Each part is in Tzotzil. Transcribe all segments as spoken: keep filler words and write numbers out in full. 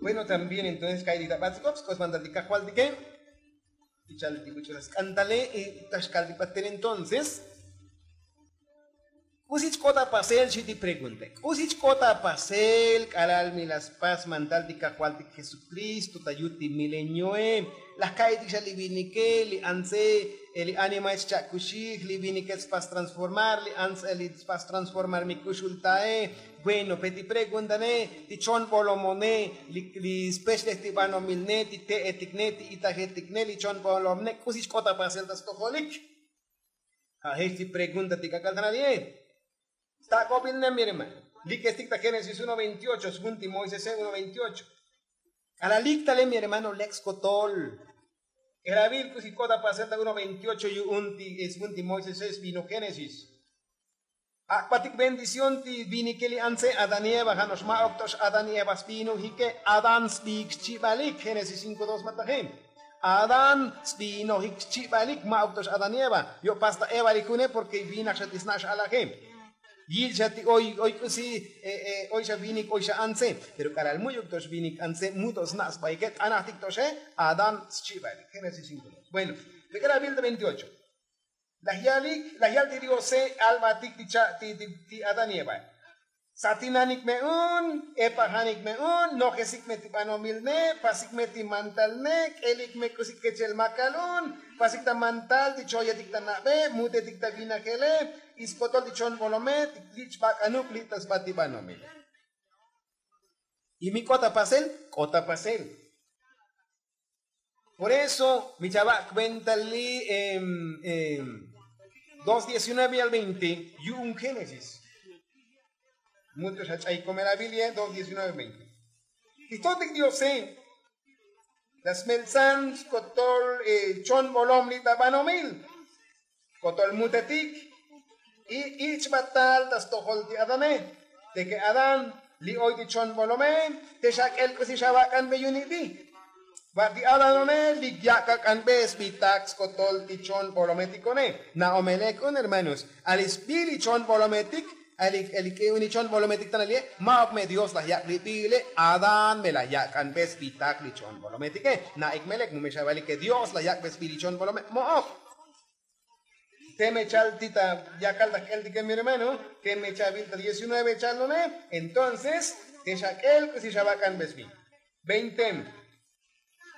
Bueno, también entonces ka'y ti ta batz'ikob sk'os mantal ti kajvaltike. Ichal ti buch'u ta sk'antale. Taxkal ti batel entonces, k'usi chk'ot ta pasel xi ti pregunta. K'usi chk'ot ta pasel k'alal mi la spas mantal ti kajvaltik jesukristo ta yut ti milenioe? Laj ka'ytik xa li vinike li antse, li animae chcha'kuxij, li vinike tspas transformar li antse li tspas transformar mi kuxultae. Bueno, pe ti preguntane, ti chon bolomone, li spexlej ti banomilne, ti te'etikne, ti itajetikne, li chon bolomne k'usi chk'ot ta pasel ta stojolik? Ja' jech ti pregunta ti k'ak'al ta nali'e. Stak'obilne mi hermano, likestik ta génesis uno veintiocho, svun ti moisese uno veintiocho. K'alal lik tale mi hermano lek skotol. K'elavil k'usi k'ot ta pasel ta uno veintiocho yu'un ti svun ti moisese svino génesis. Ak'batik bendición ti vinike li antse adán y eva ja' no'ox ma'uk to'ox adán y eva svinojike. Adán sviik xchibalik génesis cinko dos ma taje. Adán svinojik xchibalik, ma'uk to'ox adán y eva. Yo'pas ta eva li june porke vinaj xa ti sna' xalaje. Yil xa ti oy oy k'usi oy xa vinik oy xa antse. Pero k'alal mu'yuk to'ox vinik antse mu to sna' sbaike t'anajtik to'oxe. Adán xchibalik génesis cinko dos. Bueno, te k'elavil ta veintiocho. Laj yalik laj yal ti diose, albatik ti cha' ti adán y eva. Satinanik me un, epajanik me un, nojesik me ti banomilne, pasik me ti mantalne, k'elik me k'usi kechel makal un, pasik ta mantal ti choyetik ta na'be, mutetik ta vinajele, y skotol ti chon bolome ti lich' bak'anuk li' ta sba ti banomile. Y mi k'ot ta pasel k'ot ta pasel. Por eso mi chava' cuenta li dos diecinueve al veinte yu'un génesis. Mucho xa ch'ay komerabil ye dos diecinueve veinte. Ti jtotik diose, la smeltsan skotol chon bolom li' ta banomil. Kotol mutetik. Y ich' batal ta stojol ti adane. Te ke adán li' oy ti chon bolome, te xak'el k'usi xavak'anbe yu'un ibi. Va ti adanone li yak' ak'anbe sbitak skotol ti chon bolometikone. Na'o me lek un hermanos, ali sbi li chon bolometik, ali k'e un li chon bolometik tan ali'e. Ma'uk me dios laj yak' li bi le, adán me laj yak'anbe sbitak li chon bolometike. Na'ik me lek mu me xavalike dios laj yak'be sbi li chon bolome, mo'ok. Teme chal ti ta yakal ta jk'eltike mi hermano, teme chavil ta diecinueve chalone. Entonces te xak'el k'usi xavak'anbe sbi. Veinte.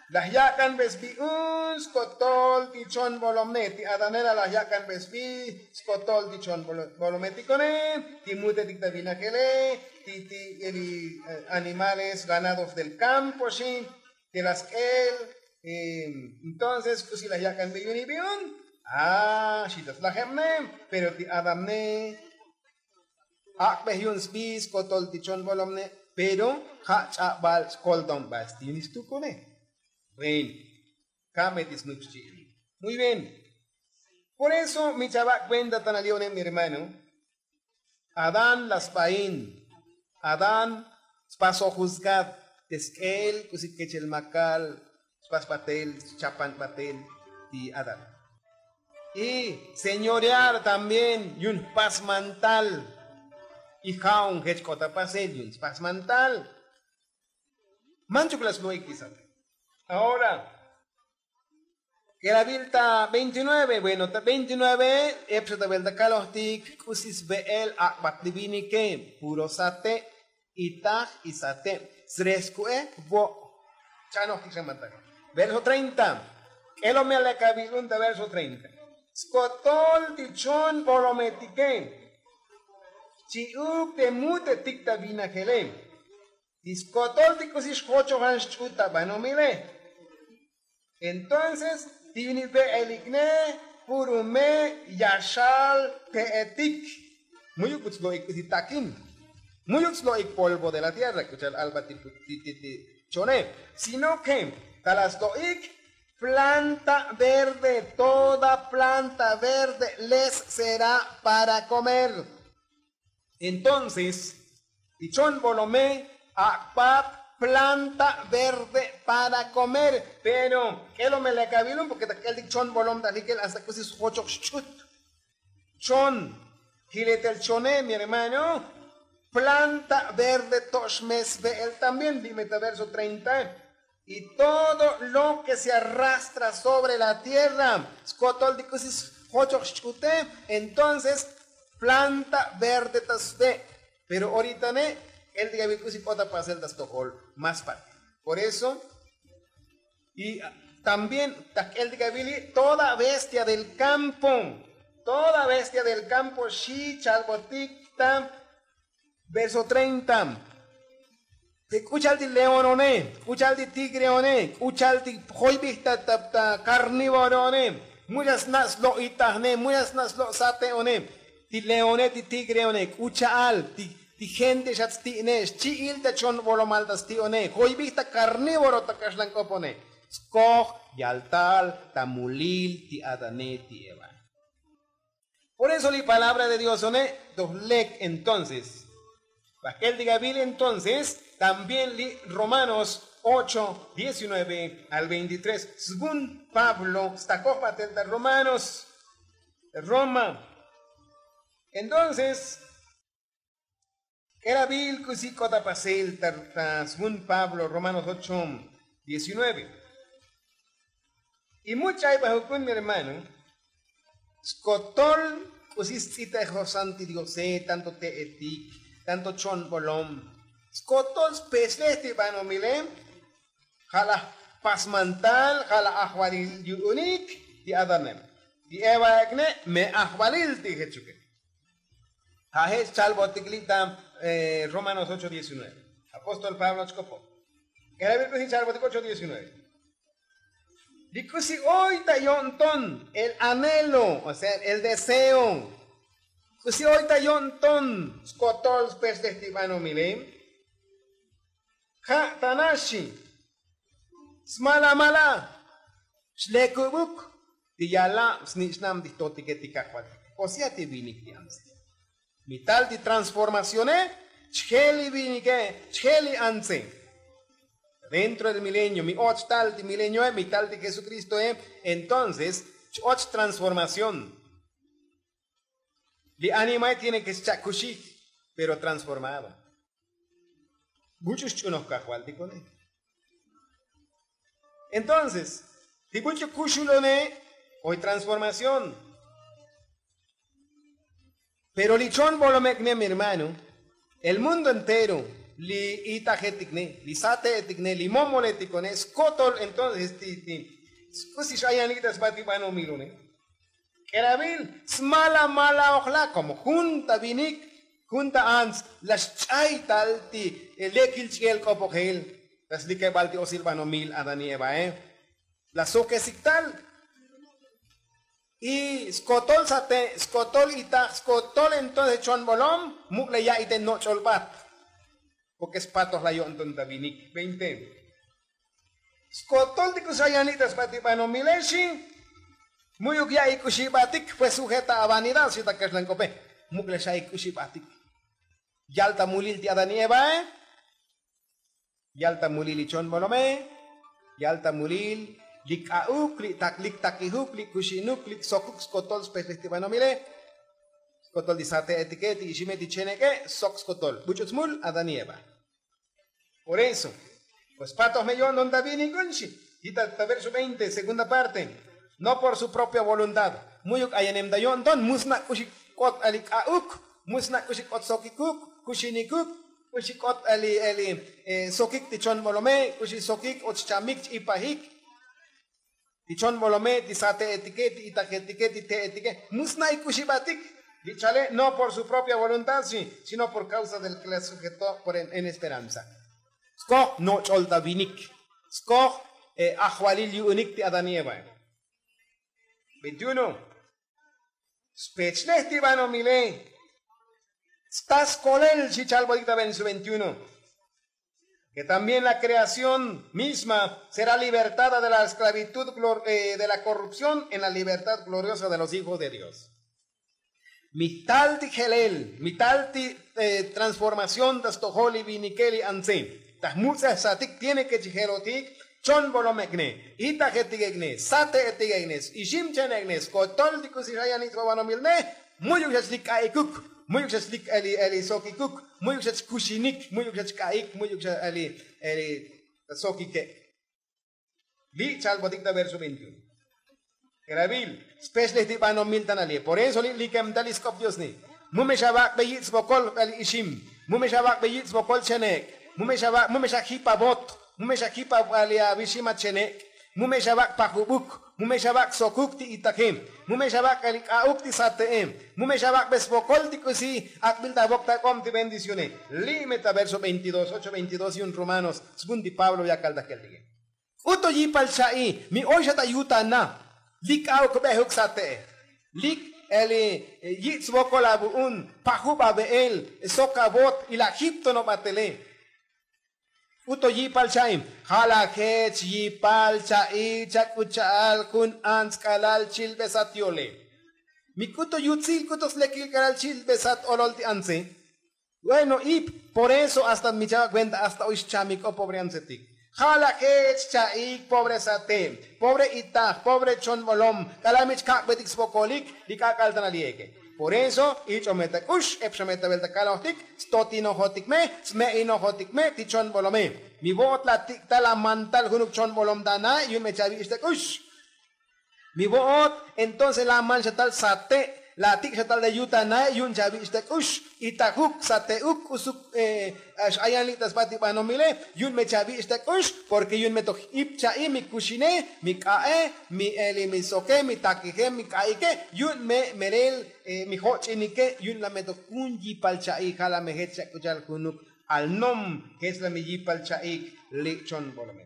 Laj yak'anbe sbi un skotol ti chon bolomne, ti adanela laj yak'anbe sbi skotol ti chon bolometikone, ti mutetik ta vinajele, ti ti animales ganados del kampo xi. Te la sk'el. Entonces k'usi laj yak'anbe yu'un ibi un? A xi ta slajebne. Pero ti adamne ak'bej yu'un sbi skotol ti chon bolomne. Pero ja' ch'abal skoltonbal stinil stukune. Bueno, kame ti snuk xchi'il. Muy bien. Por eso mi chava' kuenta tan ali'one mi hermano. Adán la sbain. Adán spasoj juzgad. Te sk'el k'usi kechel makal spas batel, schapan batel ti adán. Y señorear también yu'un jpas mantal. Y ja'un jech k'ot ta pasel yu'un spas mantal. Manchuk la slo'ik ti sate. Ahora k'elabil ta veintinueve. Bueno, ta veintinueve epxa ta velta kalojtik k'usi sve'el ak'bat li vinike. Puro sate', itaj y sate'. Sres ku'e vo'. Chanojtik xa matak. Verso treinta. K'elomel lekabil un ta verso treinta. Skotol ti chon bolometike xchi'uk te mutetik ta vinajele. Ti skotol ti k'usi xjochojan xch'ut ta banomile. Entonces ti yu'un ibe'elikne puro me' yaxal te'etik. Mu'yuk but slo'ik k'usi takin. Mu'yuk slo'ik polvo de la tierra k'u cha'al alba ti chone. Sino ke ta la slo'ik planta verde, toda planta verde les será para komer. Entonces ti chon bolome ak'bat planta verde para komer. Pero k'elomel lekabil un porke ta k'eltik chon bolom ta likel hasta k'usi sjochoj xch'ut. Chon jiletel chone mi hermano. planta verde to'xmesbe el también li' metaverso treinta. Y todo lo ke se arrastra sobre la tierra skotol ti k'usi sjochoj xch'ute. Entonces planta verde ta sbe. Pero orita ne' el ti k'abil k'usi k'ot ta pasel ta stojol más parte. Por eso y también ta k'el ti k'abili toda bestia del kampo, toda bestia del kampo xi chalbotik ta verso treinta. Te k'u cha'al ti león one, k'u cha'al ti tigre one, k'u cha'al ti joybij ta karnívoro one. Muchas na' slo' itajne, muchas na' slo' sate' one. Ti leone ti tigre one k'u cha'al ti gente xat sti' ne xchi'il ta chon bolomal ta sti' one joybij ta karnívoro ta kaxlan k'op one. Skoj yaltal ta mulil ti adane ti eva. Por eso li palabra de dios one toj lek entonces. Bajkel ti gabil entonces también li romanos ocho diecinueve al veintitrés. Svun pablo stakoj batel ta romanos roma. Entonces k'erabil k'usi k'ot ta pasel ta svun pablo romanos ocho diecinueve. Y much ch'ay ba jukun mi hermano skotol k'usi sts'itejosan ti diose tanto te'etik tanto chonbolom skotol spechlej ti banomile. Ja' laj pasmantal ja' laj ajvalil yu'unik ti adanem ti eva ek'ne me ajvalil ti jechuke. Ja' je' xchalbotik li' ta romanos ocho diecinueve. Apóstol pablo chk'opo k'erabil k'usi xchalbotik ocho diecinueve. Li k'usi oy ta yo'nton el anhelo o sea el deseo k'usi oy ta yo'nton skotol spechlej ti banomile. Ja' ta naxi smala mala xlekubuk ti yalab snich'nam ti jtotike ti kajvaltike o sea ti vinik ti antze. Mi tal ti transformacione chje' li vinike chje' li antze. Dentro del milenio mi och tal ti milenioe mi tal ti jesukristoe. Entonces ch-och transformación. Li animae tiene ke xcha' kuxij pero transformado. Buch'u xch'unoj kajvaltikone. Entonces ti buch'u kuxulone oy transformación. Pero li chon bolomek'ne mi hermano el mundo entero li itajetikne li sate'etikne li momoletikone skotol entonces ti ti k'usi xayanik ta sba ti banomilone. K'erabil smala mala ojla komo jun ta vinik jun ta ants la xch'ay tal ti lekil ch'iel k'opojel ta slikebal ti osil banomil adani evae. La sokesik tal y skotol sate' skotol itaj skotol entonces chon bolom muk' la ya'i te noch'ol bat. Porke spatoj la yo'nton ta vinik veinte. Skotol ti k'usi xa yanik ta sba ti banomile xi. Mu'yuk ya'i k'uxi batik pues ujeta avanidad xi ta kaxlan k'ope. Muk' la xa'i k'uxi batik yal ta mulil ti adani evae. Yal ta mulil li chon bolome yal ta mulil li k'a'uk li tak li takijuk li kuxinuk li sokuk skotol spejlej ti banomile. Skotol ti sate'etike ti ixime ti cheneke sok skotol buch'u smul adani eva. Por eso pues patoj me yo'nton ta vinik un xi. Yita ta verso veinte segunda parte. No por su propia voluntad mu'yuk ayanem ta yo'nton mu sna' k'uxi k'ot ali k'a'uk mu sna' k'uxi k'ot sokikuk kuxinikuk k'uxi k'ot ali ali sokik ti chon bolome k'uxi sokik ot xchamik ch-ipajik. Ti chon bolome ti sate'etike ti itajetike ti te'etike mu sna' ik'uxi batik. Li chale no por su propia voluntad sino por kausa del ke la sujeto por en esperanza. Skoj noch'ol ta vinik skoj ajvalil yu'unik ti adani evae. Veintiuno. Spechlej ti banomile sta skolel xi chalbotik ta verso veintiuno. Ke también la kreación misma será libertada de la esklavitud de la korrupción en la libertad gloriosa de los hijos de dios. Mi tal ti jelel mi tal ti transformación ta stojol li vinike li antze ta jmutz'ejsatik tiene ke chi jelotik chon bolomek'ne itajetikek'ne sate'etikek'ne iximchenek'ne skotol ti k'usi xayanik ta babanomilne. Mu'yuk xa chlik k'a'ikuk, mu'yuk xa chlik eli eli sokikuk, mu'yuk xa chkuxinik, mu'yuk xa chk'a'ik, mu'yuk xa eli eli sokike'. Li' chalbotik ta verso veintiuno. K'elabil, spexlej ti banomil ta nali. Por eso li' likem ta li sk'op diosni. Mu me xa vak'be yich' svokol k'al ixim, mu me xa vak'be yich' svokol chenek', mu me xa vak' mu me xa jip avot, mu me xa jip avixim achenek', mu me xa vak' pajubuk, mu me xa vak' sokuk ti itaje, mu me xa vak' k'al ik'a'uk ti sate'e, mu me xa vak'be svokol ti k'usi ak'bil ta vok ta k'ob ti bendicione. Li' me ta verso veintidós ocho veintidós yu'un romanos svun ti pablo yakal ta jkeltike. K'uto yipal cha'i, mi oy xa ta yutana. Lik k'a'uk bejuk sate'e, lik eli yich' svokol avu'un, pajub ave'el, sok avot, ila jip tonobatele. K'uto yipal cha'i. Ja' la jech yipal cha'i chak'u cha'al jun ants k'alal chilbesat yole. Mi k'uto yutsil k'uto slekil k'alal chilbesat olol ti antse. Bueno ip, por eso hasta mi chava' kuenta hasta oy xchamik o pobre antsetik. Ja' la jech cha'ik pobre sate', pobre itaj, pobre chonbolom, k'alal mi chkak'betik svokolik. Li k'ak'al ta nali'eke. Por eso ich'o me ta k'ux, ep xa me ta vel ta kalojtik, stotinojotik me, sme'inojotik me ti chonbolome. Mi vo'ot la tik' tal la man tal junuk chonbolom ta nae' yu'un me chavich' ta k'ux. Mi vo'ot entonces la man xa tal sate', la tik' xa tal ta yutanae' yu'un chavich' ta k'ux. Itajuk, sate'uk, k'usuk, x'ayan li' ta sba ti banomile, yu'un me chavich' ta k'ux. Porke yu'un me toj ip cha'i, mi kuxine, mi k'a'e, mi eli mi soke, mi takije, mi k'a'ike, yu'un me melel mi joch'inike. Yu'un la me toj jun yipal cha'i, ja' la me jech chak'u cha'al junuk alnom, jech la mi yipal cha'ik. Li' chonbolome.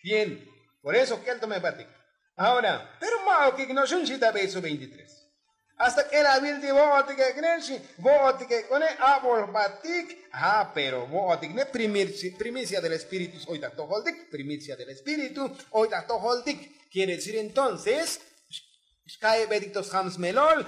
Bien. Por eso k'el to me batik. Ahora pero ma'okik no'ox jun xi ta verso veintitrés. Hasta k'elavil ti vo'otik ek'ne xi. Vo'otik ek'one, abol jbatik. Pero vo'otik ne primicia del espíritu oy ta jtojoltik, primicia del espíritu oy ta jtojoltik. Quiere decir entonces, xka'ibetik to sjam smelol,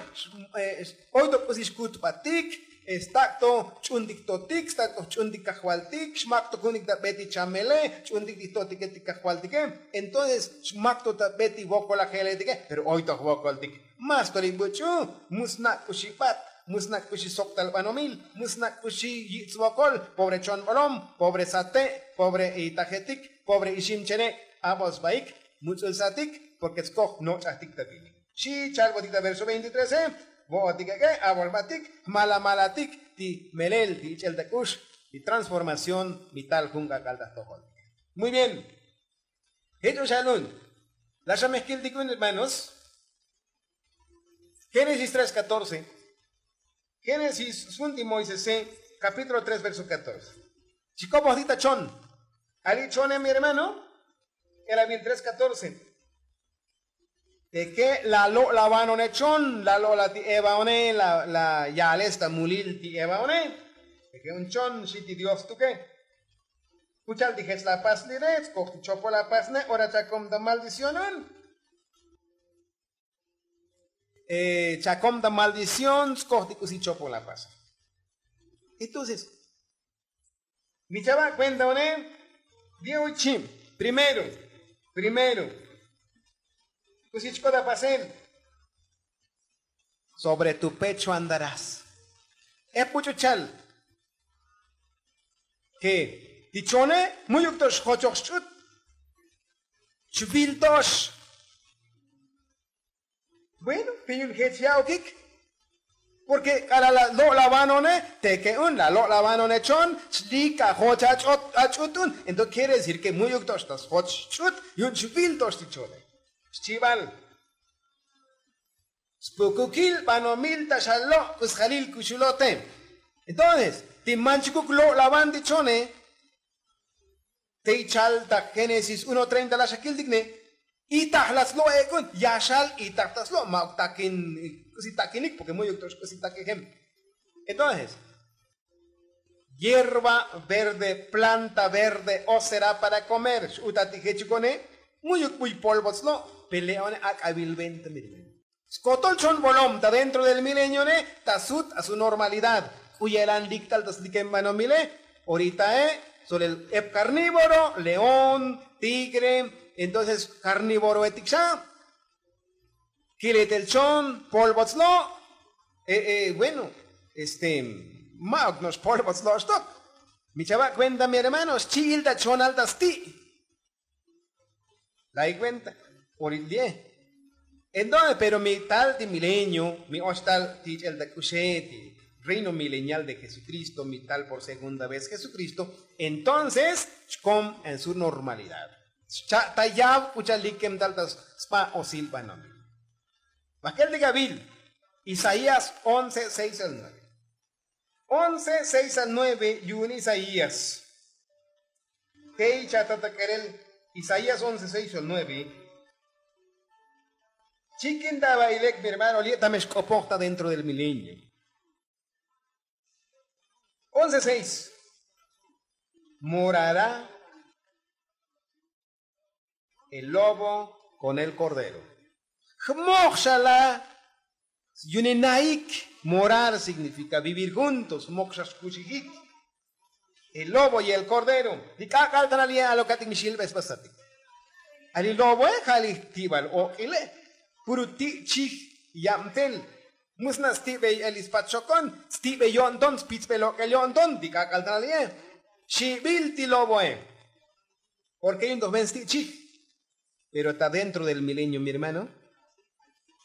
oy to k'usi xkutbatik, stak' to jch'untik totik, stak' to jch'untik kajvaltik, xmak to kunik ta be ti chamele, jch'untik ti jtotike ti kajvaltike. Entonces xmak to ta be ti vokolajeletike, pero oy to jvokoltik. Mas to li buch'u, mu snak' k'uxi bat, mu snak' k'uxi sok tal banomil, mu snak' k'uxi yich' svokol. Pobre chonbolom, pobre sate', pobre itajetik, pobre ixim chene', abol sbaik, muts'ul satik, porke skoj noch'ajtik ta vinik. Xi chalbotik ta verso veintitrese. Vo'otik ek'e, abolbatik, jmalamalatik ti melel ti ich'el ta k'ux, ti transformación mi tal jun k'ak'al ta jtojoltik. Muy bien. Jech o xalun. La xa me jkiltik un hermanos. Génesis tres catorce. Génesis sfun ti moisese, kapítulo tres verso katorce. Chikobojtik ta chon. Ali' chone mi hermano. K'elabil tres katorce. Teke la lo'lavanone chon, la lo'la ti evaone, la yales ta mulil ti evaone. Teke un chon xi ti dios tuke. Kuchal ti jech la paslire, skoj ti chopol la pasne, ora chakom ta maldicionon. Chakom ta maldición, skoj ti k'usi chopol la pasne. Entonces mi chava' kuenta one. Di'o chib. Primero, primero, k'usi chk'ot apasel. Sobre tu pecho andarás. Ep buch'u chal. Ke ti chone, mu'yuk to xjochoj xch'ut. Chvil tox. Bueno, pi yun jech ya'okik. Porke k'alal la lo'lavanone, teke un la lo'lavanone chon, chlik ajoch ach'ut un. Entonces quiere decir ke mu'yuk to xta sjoch xch'ut, yu'un chvil tox ti chone. Xchibal. Spukukil banomil ta xalo' k'usjalil kuxulote. Entonces ti manchukuk lo'lavan ti chone. Te ichal ta génesis uno treinta la xakiltik ne. Itaj la slo' ek'un, yaxal itaj ta slo', ma'uk takin. K'usi takinik porke mu'yuk to xk'usi takijem. Entonces, hierba verde, planta verde o será para comer x'uta ti jechukone. Mu'yuk buy polvot slo'. Pele'one ak'avil venta mi. Skotol chon bolom ta dentro del milenione ta sut a su normalidad. K'u ye'lan lik tal ta slikem banomile. Oritae solel ep karnívoro, león, tigre. Entonces karnívoroetik xa. Kiletel chon polvot slo'. Bueno, este, ma'uk no'ox polvots lo'oxtok. Mi chava' cuenta mi hermano xchi'il ta chonal ta sti'. Lay cuenta. Oril di'e. Entonces pero mi tal ti milenio mi oxtal ti ch'el ta k'uxe ti reino milenial de jesukristo mi tal por segunda vez jesukristo. Entonces xkom en su normalidad xcha' ta yav k'u cha'al likem tal ta spa' osil banomil. Bakel ti gabil isaías once seis al nueve. Once seis al nueve yu'un isaías. Tey chata ta k'elel isaías once seis al nueve. Chikin ta bailek mi hermano li' ta me xk'opoj ta dentro del milenio. Once seis. Morará el lobo con el kordero. Jmoj xa la' yu'un naik. Morar signifika vivir juntos jmoj xa xkuxijik. El lobo y el kordero. Li k'ak'al ta nal ye' alokatik mi xilbesbasatik. A li loboe ja' li ti' bal ok'ile. Puru ti' chij yabtel. Mu sna' sti'bey el li spat xokon sti'bey yo'nton spitzbey lok'el yo'nton li k'ak'al ta nal ye'. Xibil ti loboe. Porke yu'un toj ven sti' chij. Pero ta dentro del milenio mi hermano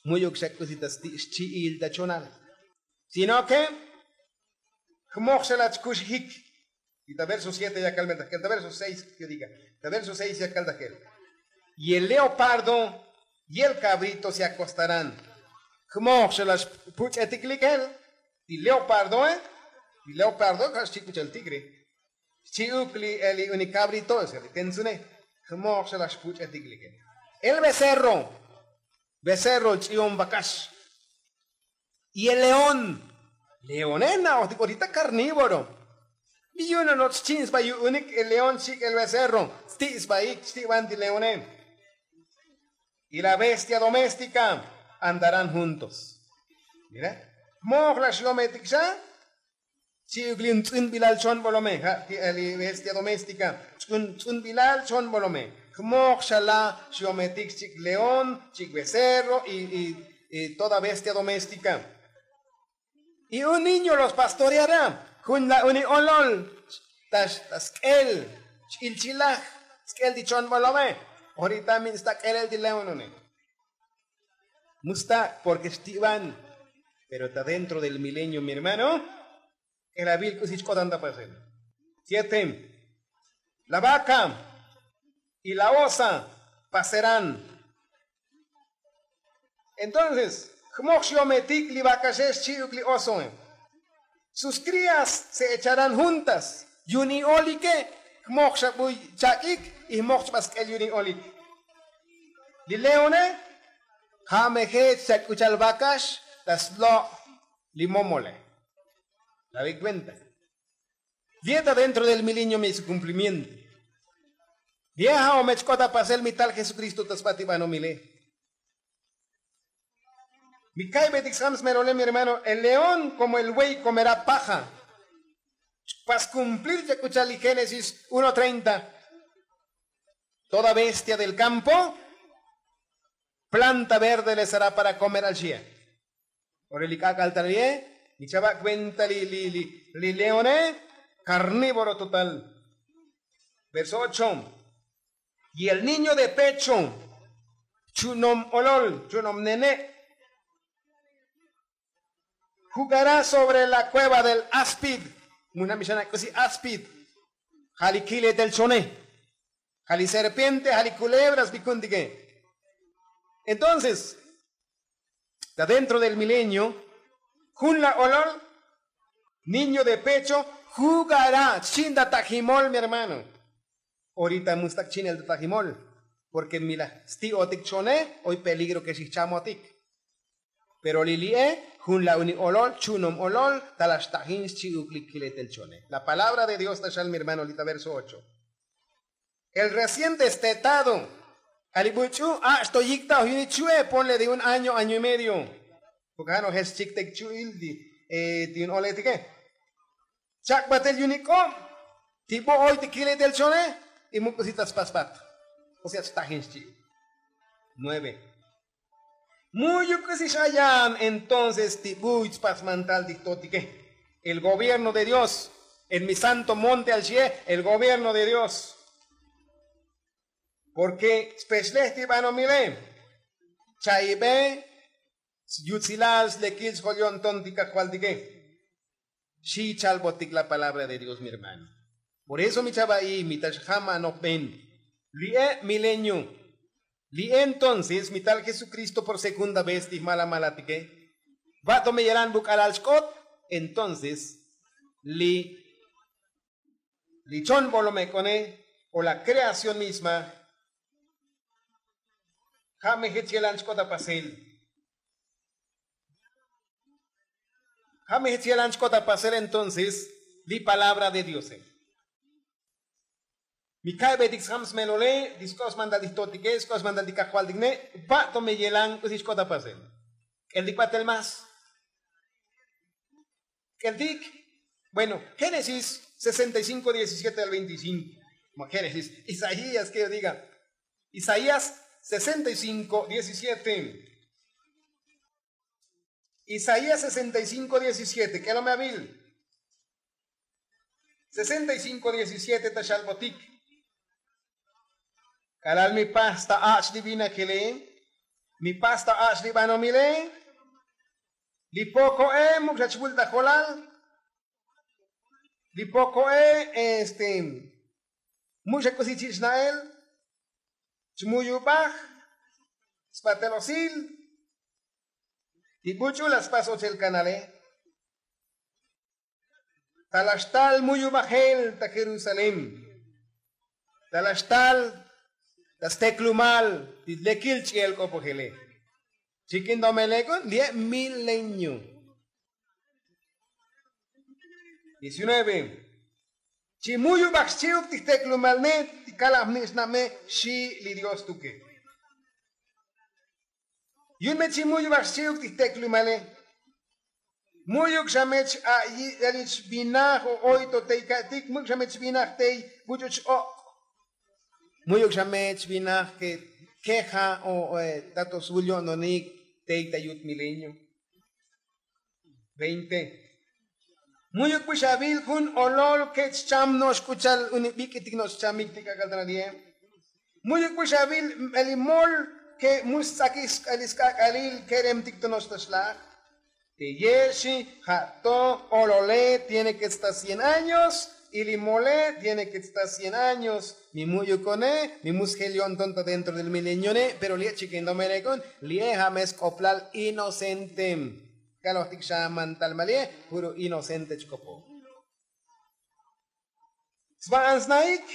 mu'yuk xa k'usi ta sti' xchi'il ta chonal. Sino ke jmoj xa la' chkuxijik. Y ta verso siete ya kal me ta jkel ta verso seis ya kal ta jkel. Y el leopardo y el kabrito se akostarán. Jmoj xa la' xpuch'etik likel. Ti leopardoe ti leopardo ja' xchi' k'u cha'al tigre. Xchi'uk li el li unik kabrito li tentzune. Jmoj xa la' xpuch'etik likel. El becerro becerro ch'i'on vakax. Y el león leone na'ojtik orita karnívoro. Bi yu'un no'noch xchi'n sba yu'unik el león xchi'ik el becerro. Sti' sbaik xti' ban ti leone. Y la bestia doméstika andarán juntos. Mira. Jmoj la' xyometik xa. Xchi'uk li un tz'unbilal chon bolome ja' ti' li bestia doméstika. Tz'unbilal chon bolome. Jmoj xa la' xyometik xchi'ik león xchi'ik becerro y toda bestia doméstika. Y un niño los pastoreará. Jun la' uni olol ta sk'el x'ilchilaj sk'el ti chon bolome. Orita min sta k'elel ti león une. Mu sta' porke xti'ban. Pero ta dentro del milenio mi hermano k'elabil k'usi chk'otan ta pasel. Siete. La vaca y la osa pasarán. Entonces jmoj xyometik li vakaxe xchi'uk li osoe. Sus krías se echarán juntas. Yu'un i olike jmoj xa buy chak'ik. Y jmoj chba sk'el yu'un i olik. Li leone ja' me jech xa k'u cha'al vakax ta slo' li momole. La vi cuenta. Li'e ta dentro del milenio mi su cumplimiento. Li'e ja' o me chk'ot ta pasel mi tal jesukristo ta sba ti banomile. Mi ka'ybetik skamsmerole mi hermano el león komo el buey komerá paja. Chpas kumplir chak k'u cha'al li génesis uno treinta. Toda bestia del kampo planta verde le será para komer al xie. Ora li k'ak'al tal ye' mi chava' kuenta li li li leone karnívoro total. Verso ocho. Y el niño de pecho chu'nom olol chu'nom nene' jugará sobre la kueva del áspid. Mujna' mi xana' k'usi áspid. Ja' li kiletel chone. Ja' li serpiente ja' li kulebras bi ku'untike. Entonces ta dentro del milenio jun la olol niño de pecho jugará xchi'in ta tajimol mi hermano. Orita mu stak' chinel ta tajimol. Porke mi laj sti'otik chone oy peligro ke xijchamotik. Pero li li'e jun la uni olol chu'nom olol ta laj xtajin xchi'uk li kiletel chone. La palabra de dios ta xal mi hermano li ta verso ocho. El recién destetado a li buch'u ach' to yik ta oj yu'un i chu'e ponle de un año año y medio. Porke ja' no' jech chiktek chu'il ti yu'un oletike. Chak' batel yu'un i k'ob ti bo' oy ti kiletel chone. Y mu k'usi ta spasbat. O sea xtajin xchi'. Nueve. Mu'yuk k'usi x'ayan entonces ti buy tspas mantal ti jtotike, el gobierno de dios. En mi santo monte al xie el gobierno de dios. Porke spexlej ti banomile, cha'ibe, yutsilal slekil xjol yo'nton ti kajvaltike. Xi chalbotik la palabra de dios mi hermano. Por eso mi chava'i mi ta xjam anojben, li'e milenio, li'e entonces mi tal jesukristo por segunda vez ti jmala malatike. Va'to me yelan buk'alal xk'ot. Entonces li li chon bolomek'one o la kreación misma. Ja' me jech yelan chk'ot apasel. Ja' me jech yelan chk'ot apasel entonces li palabra de diose. Mi ka'betik sjam smelole ti sk'ob smantal ti jtotike sk'ob smantal ti kajvaltik ne'. Va'to me yelan k'usi chk'ot apasel. K'eltik batel más. K'eltik. Bueno, génesis sesenta y cinco diecisiete al veinticinco. Génesis, isaías quiero diga, isaías sesenta y cinco diecisiete. Isaías sesenta y cinco diecisiete k'elome avil. Sesenta y cinco diecisiete ta xalbotik. K'alal mi pasta ach' li vinajile, mi pasta ach' li banomile, li poko'e muk' xa chvul ta jolal. Li poko'e este muk' xa k'usi chi' xna'el. Chmuyubaj sbatel osil. Ti buch'u la spas ochel kanale. Ta la xtal muyubajel ta jerusalén. Ta la xtal ta steklumal ti lekil ch'i'el k'opojele. Chik'in domelek'un li'e milenio. Diecinueve. Chi muyubaj xchi'uk ti jteklumal ne' ti kalab ni' xna'me. Xi' li dios tuke. Yu'un me chi mu'yuk baj xchi'uk ti jtek'lumale. Mu'yuk xa me ch'a'iy elich vinaj o oy to tey ka'tik mu'yuk xa me chvinaj tey buch'u ch'ok'. Mu'yuk xa me chvinaj ke keja o tato svul yo'nonik tey ta yut milenio. Veinte. Mu'yuk bix avil jun olol ke chcham no'ox k'u cha'al uni bik'itik no'ox chamik ti k'ak'al ta nadie. Mu'yuk bix avil elimol ke mu stz'akix sk'ak'alil keremtik to no'ox ta xlaj. Teye' xi ja' to olole tiene ke sta cien años. Y li mole tiene ke sta cien años. Mi mu'yukone mi mu sjel yo'nton ta dentro del milenione pero li'e' chikin domelek'un li'e' ja' me sk'oplal inocente. Kalojtik xa mantal mali'e puro inocente chk'opoj. Sva'an snaik.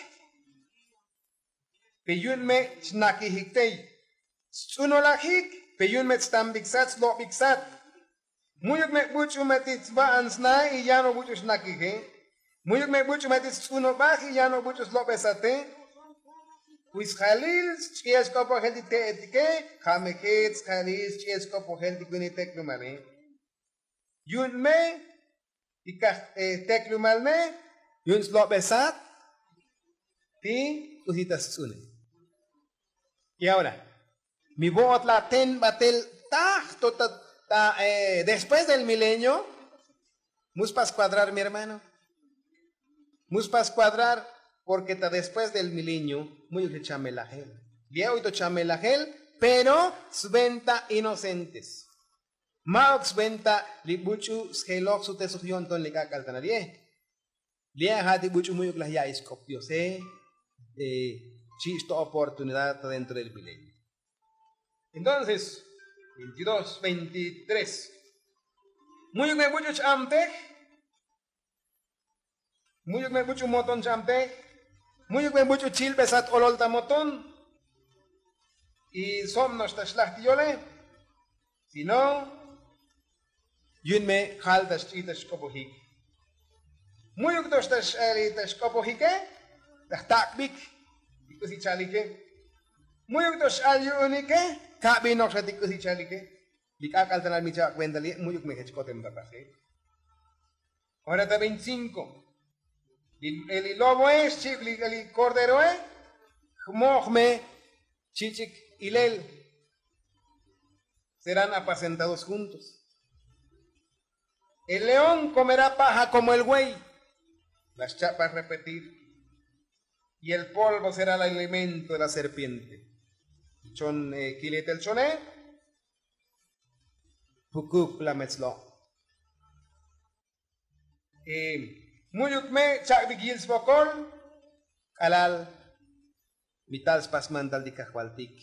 Pe yu'un me chnakijik tey. Stz'unolajik. Pe yu'un me tztambik sat slobik sat. Mu'yuk me buch'u me ti sva'an snaik y yan o buch'u xnakije. Mu'yuk me buch'u me ti stz'unobaj y yan o buch'u slobesate. Kuy sjalil sch'i'el sk'opojel ti te'etike. Ja' me jech sjalil sch'i'el sk'opojel ti kunik tek'lumale. Yu'un me ti kaj tek'lumal me yu'un slobesat ti k'usi ta stz'une. Y ahora mi vo'ot la ten batel taj to ta después del milenio. Mu spas kuadrar mi hermano. Mu spas kuadrar. Porke ta después del milenio mu'yuk xa chamelajel. Li'e' oy to chamelajel pero sventa inocentes. Ma'uk sventa li buch'u sjeloj sutesoj yo'nton li k'ak'al ta nali'e. Li'e' ja' ti buch'u mu'yuk laj ya'iy sk'op diose. Chi' xto oportunidad ta dentro del milenio. Entonces veintidós veintitrés. Mu'yuk me buch'u ch'amtej. Mu'yuk me buch'u moton ch'amtej. Mu'yuk me buch'u chilbesat olol ta moton. Y sob no'ox ta xlaj ti yole. Sino yu'un me jal ta xch'i ta xk'opojik. Mu'yuk to'ox ta xch'ali ta xk'opojike ta jtak'bik ti k'usi chalike. Mu'yuk to'ox ch'al yu'unike. Kabi nokxa ti k'usi chalike. Li k'ak'al ta nal mi cha'bak kuenta li' mu'yuk me jech k'otem ta pase. Ora ta veinticinco. Li loboe xchi'uk li korderoe. Jmoj me chich'ik ilel. Serán apacentados juntos. El león comerá paja como el buey. La xcha'paj repetir. Y el polvo será el alimento de la serpiente. Chon kiletel chone. Pukuk la metzlo. Mu'yuk me chak'bik yil svokol. K'alal mi tal spasmantal ti kajvaltik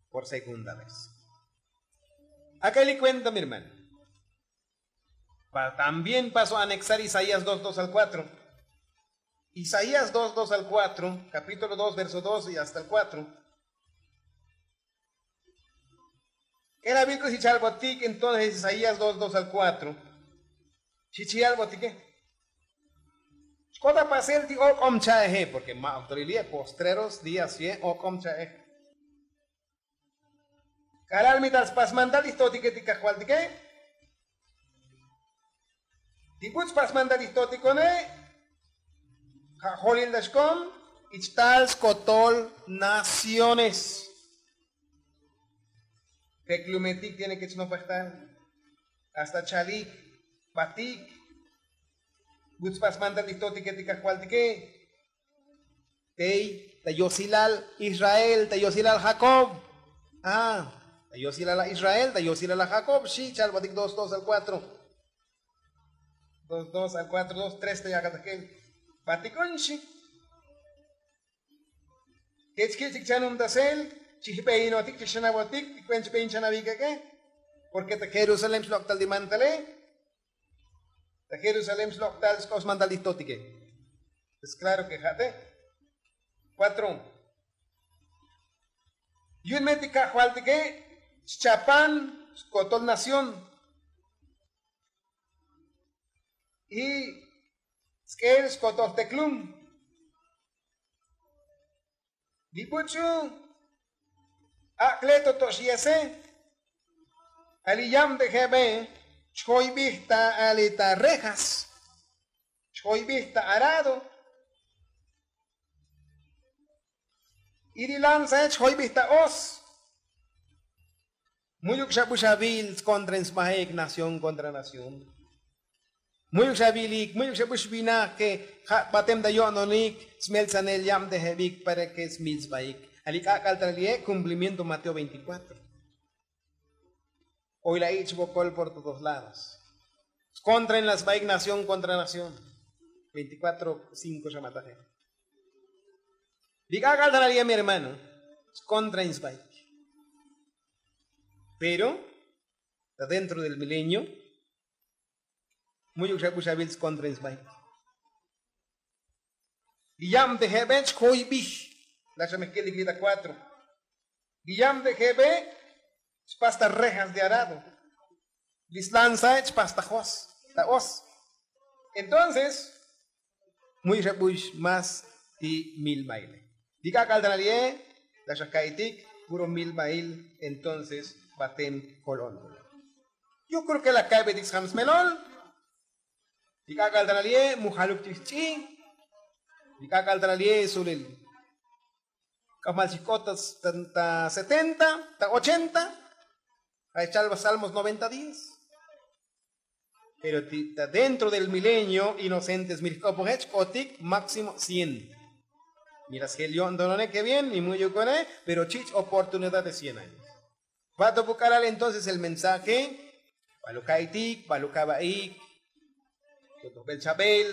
por segunda vez. Ak'eli kuenta mi hermano. También paso anexar isaías dos dos al kuatro. Isaías dos dos al kuatro, kapítulo dos verso dos y hasta el kuatro. K'elabil k'u xi chalbotik entonces isaías dos dos al kuatro. Xi chalbotike. Xk'ota pasel ti ok'om cha'eje porke ma' oktoril ye postreros días ye ok'om cha'ej. K'alal mi tal spasmantal ixtotike ti kajvaltike. Ti buts' spasmantal ixtotikone. Ja' jolil ta xkom. Ich tal skotol naciones. Peklumetik tiene ke chnopajtal. Hasta chalik batik. Buts' spasmantal ixtotike ti kajvaltike. Tey ta yosilal israel ta yosilal jakob. Ta yosilal a israel ta yosilal a jakob xi' chalbatik dos dos al kuatro. Dos dos al kuatro dos tres ta yakatajkel. Batikon xi'. Kech kich'ik chanumtasel. Chijbeyinotik chixanabotik ti kuen chbeyin chanabikeke. Porke ta jerusalén xlok'tal ti mantale. Ta jerusalén xlok'tal sk'op smantal ti jtotike. Es klaro ke ja'te. Kuatro. Yu'un me ti kajvaltike xchapan skotol nación. Y sk'el skotol teklum. Li buch'u ak'le to toxyese. Ali yab te jebe chjoybij ta ali ta rejas. Chjoybij ta arado. Y li lanzae chjoybij ta os. Mu'yuk xa bu xavi'il skontra in sbaik nación kontra nación. Mu'yuk xa vilik mu'yuk xa bu xvinaj ke ja' batem ta yo'nonik. Smeltsanel yab te jebik para ke smil sbaik. Ali k'ak'al ta li'e' kumplimiento mateo veintikuatro. Oy la ich' bokol por todos lados. Skontra in la sbaik nación kontra nación. Veintikuatro cinko xa mataje. Li k'ak'al ta li'e' mi hermano. Skontra in sbaik. Pero ta dentro del milenio. Mu'yuk xa bu xavil skontra in sbaik. Li yab te jebe chjoybij. La xa mejkil li grita kuatro. Li yab te jebe chpas ta rejas de arado. Li slanzae chpas ta jos ta os. Entonces mu'yuk xa bu xmas ti mil baile. Li k'ak'al ta li'e' la xa ka'itik puro mil bail. Entonces batem kolon. Yo kreo ke la ka'betik sjam smelol. Li k'ak'al ta li'e' mu jaluk ch'ij ch'i'. Li k'ak'al ta li'e' sulil k'amal chij k'ot ta setenta ta ochenta. Ja' chal ba salmos noventa diez. Pero ti ta dentro del milenio inocentes mi jk'opoje chk'otik máximo cien. Mira sjel yo'ntonone ke bien mi mu'yukone. Pero chich' oportunidad de cien años. Vato bu k'alal entonces el mensaje. Balu ka'itik balu kabaik. Totojbel chabel.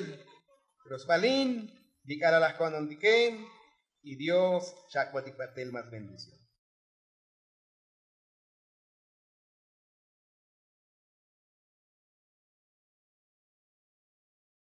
Pero sbalin li k'alal laj ko'nontike. Y dios xak'botik batel mas bendición.